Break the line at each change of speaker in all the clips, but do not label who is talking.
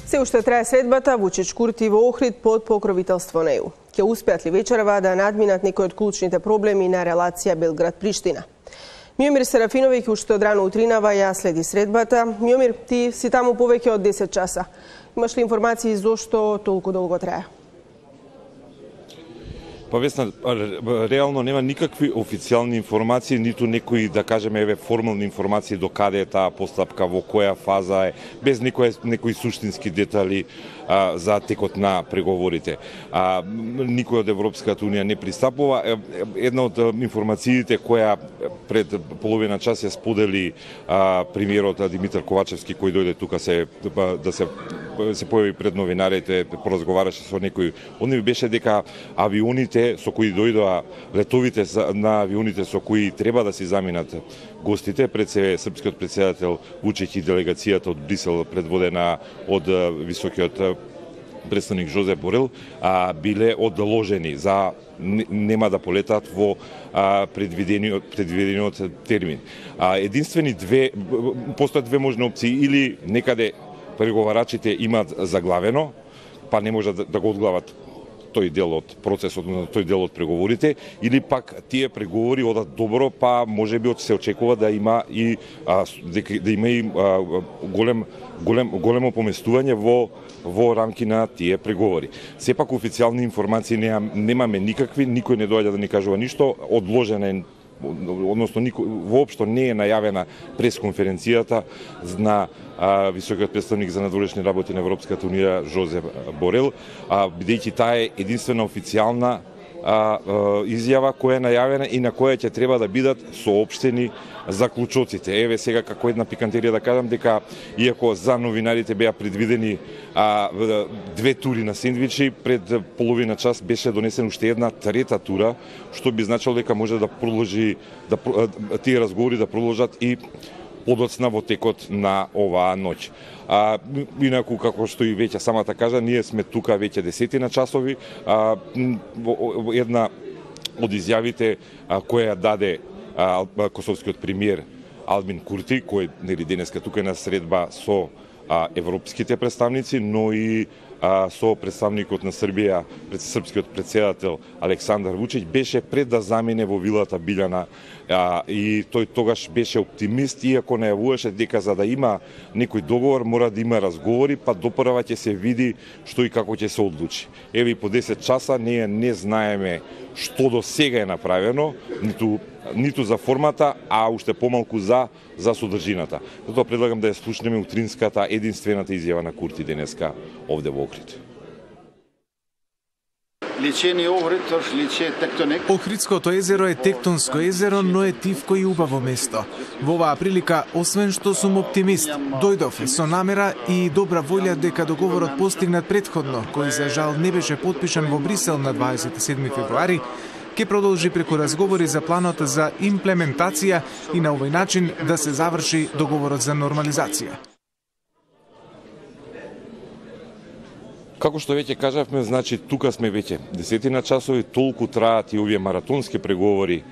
Се уште трае средбата Вучич-Курти во Охрид под покровителство на ЕУ. Ќе успеат ли вечерва да надминат некои од клучните проблеми на релација Белград-Приштина? Миомир Серафиновиќ уште од рано утринава ја следи средбата. Миомир, ти си таму повеќе од 10 часа. Имаш ли информации зошто толку долго трае?
Па Весна, реално нема никакви официјални информации, ниту некои, да кажеме, формални информации до каде е таа постапка, во која фаза е, без некои суштински детали за текот на преговорите. Никој од Европската Унија не пристапува. Една од информациите која пред половина час ја сподели премиерот Димитар Ковачевски, кој дојде тука се појави пред новинарите, поразговараше со некои. Он беше дека авионите со кои дојдоа, летовите на авионите со кои треба да си заминат гостите, пред се српскиот претседател Вучич и делегацијата од Брисел предводена од високиот представник Жозеп Борел, биле одложени за нема да полетат во предвидениот термин. Постојат две можни опции, или некаде преговарачите имаат заглавено, па не може да го одглават тој дел од процесот, тој дел од преговорите, или пак тие преговори одат добро, па можеби се очекува да има и големо поместување во рамки на тие преговори. Сепак официјални информации немаме никакви, никој не доаѓа да ни кажува ништо, одложена е, односно воопшто не е најавена пресконференцијата на високиот представник за надворешни работи на Европската Унија Жозеп Борел, бидејќи таа е единствена официјална изјава која е најавена и на која ќе треба да бидат соопштени заклучоците. Еве сега како една пикантерија да кажам дека иако за новинарите беа предвидени две тури на сендвичи, пред половина час беше донесена уште една трета тура, што би значило дека може да продолжи тие разговори да продолжат и подоцна во текот на оваа ноќ. Инаку, како што и веќе самата кажа, ние сме тука веќе 10 часови. Една од изјавите која даде косовскиот премиер Албин Курти, кој денеска тука е на средба со европските представници, но и со представникот на Србија, српскиот претседател Александар Вучич, беше пред да замине во вилата Билјана, и тој тогаш беше оптимист, иако најавуваше дека за да има некој договор мора да има разговори, па допрва ќе се види што и како ќе се одлучи. Еве и по 10 часа ние не знаеме што до сега е направено, ниту за формата, а уште помалку за содржината. Затоа предлагам да ја слушнеме утринската единствената изјава на Курти денеска овде во Охрид.
Охридското езеро е тектонско езеро, но е тивко и убаво место. Во оваа прилика, освен што сум оптимист, дојдов со намера и добра волја дека договорот постигнат претходно, кој за жал не беше потпишан во Брисел на 27 февруари, ќе продолжи преку разговори за планот за имплементација и на овој начин да се заврши договорот за нормализација.
Како што веќе кажавме, значи тука сме веќе 10 часови, толку траат и овие маратонски преговори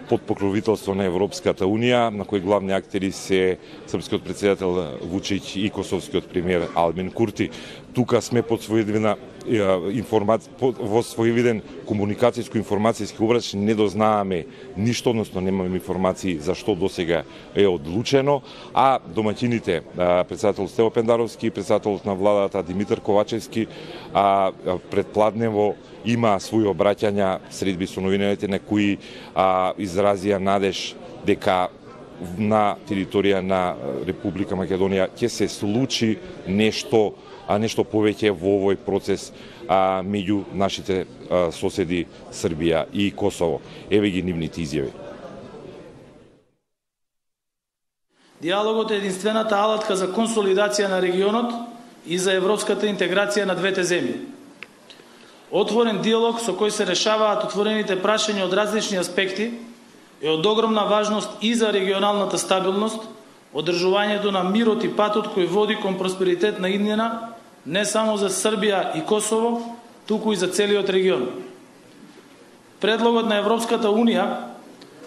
под покровителство на Европската Унија, на кои главни актери се српскиот претседател Вучич и косовскиот премиер Албин Курти. Тука сме под своевиден комуникацијско-информацијски обрач, не дознаеме ништо, односно немаме информации за што досега е одлучено, а домаќините, претседател Стево Пендаровски и претседателот на владата Димитар Ковачевски, предпладнево има своји обраќања средби со новинарите на кои изразија надеж дека на територија на Република Македонија ќе се случи нешто повеќе во овој процес меѓу нашите соседи Србија и Косово. Еве ги нивните изјави.
Диалогот е единствената алатка за консолидација на регионот и за европската интеграција на двете земји. Отворен диалог со кој се решаваат отворените прашања од различни аспекти е од огромна важност и за регионалната стабилност, одржувањето на мирот и патот кој води кон просперитет на иднина, не само за Србија и Косово, туку и за целиот регион. Предлогот на Европската Унија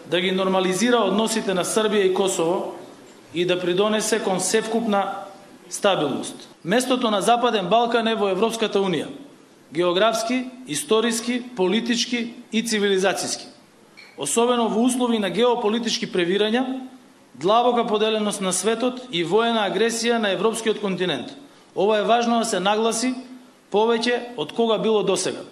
да ги нормализира односите на Србија и Косово и да придонесе кон севкупна стабилност. Местото на Западен Балкан е во Европската Унија. Географски, историски, политички и цивилизацијски. Особено во услови на геополитички превирања, длабока поделеност на светот и воена агресија на европскиот континент. Ова е важно да се нагласи повеќе од кога било досега.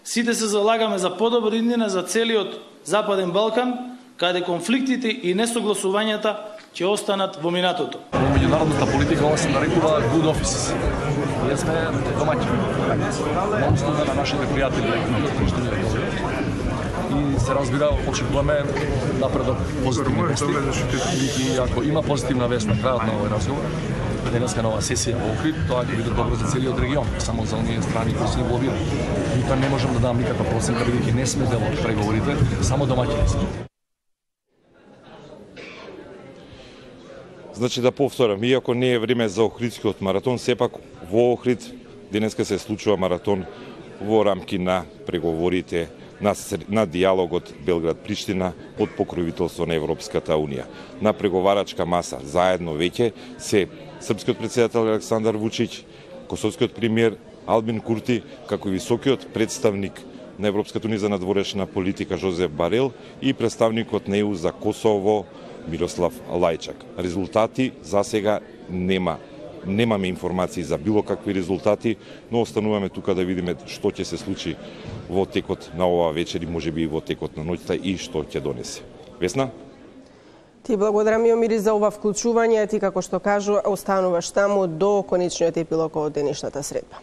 Сите се залагаме за подобра иднина за целиот Западен Балкан, каде конфликтите и несогласувањата ќе останат во минатото.
Во меѓународната политика ова се нарекува good offices. Ние сме домаќини. На услуга на нашите пријатели и се разбира, очекуваме напредок позитивни вести. И ако има позитивна вест на крајот на овој разговор, денеска нова сесија во Охрид, тоа ќе биде добро за целиот регион, само за оние страни кои се инволвирани. И тоа не можам да дам никаква проценка, бидејќи не сме дел од преговорите, само домаќини сме.
Значи да повторам, иако не е време за Охридскиот маратон, сепак во Охрид денеска се случува маратон во рамки на преговорите на диалогот Белград-Приштина под покровителство на Европската Унија. На преговарачка маса заедно веќе се српскиот претседател Александар Вучиќ, косовскиот премиер Албин Курти, како и високиот представник на Европската Унија за надворешна политика Жозеф Барел и представникот на ЕУ за Косово Мирослав Лајчак. Резултати за сега немаме информации за било какви резултати, но остануваме тука да видиме што ќе се случи во текот на оваа вечер и можеби и во текот на ноќта и што ќе донесе. Весна?
Ти благодарам, Миомири, за ова вклучување. Ти, како што кажу, остануваш таму до конечниот епилог од денешната средба.